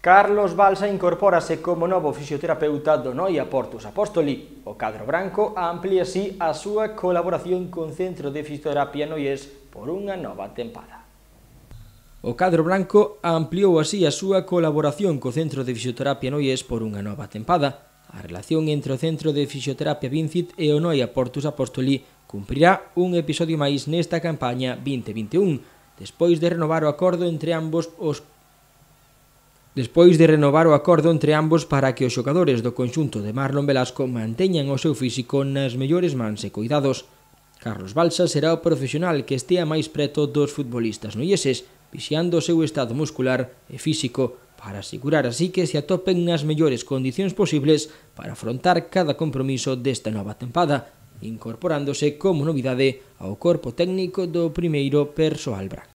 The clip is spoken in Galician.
Carlos Balsa incorpórase como novo fisioterapeuta do Noia Portus Apóstoli. O cadro branco amplía así a súa colaboración con Centro de Fisioterapia Noiés por unha nova tempada. O cadro branco ampliou así a súa colaboración co Centro de Fisioterapia Noiés por unha nova tempada. A relación entre o Centro de Fisioterapia Vincit e o Noia Portus Apóstoli cumprirá un episodio máis nesta campaña 2021, despois de renovar o acordo entre ambos para que os xogadores do conxunto de Marlon Velasco manteñan o seu físico nas mellores mans e cuidados. Carlos Balsa será o profesional que estea máis preto dos futbolistas noieses, vixiando o seu estado muscular e físico, para asegurar así que se atopen nas mellores condicións posibles para afrontar cada compromiso desta nova tempada, incorporándose como novidade ao corpo técnico do primeiro persoal branco.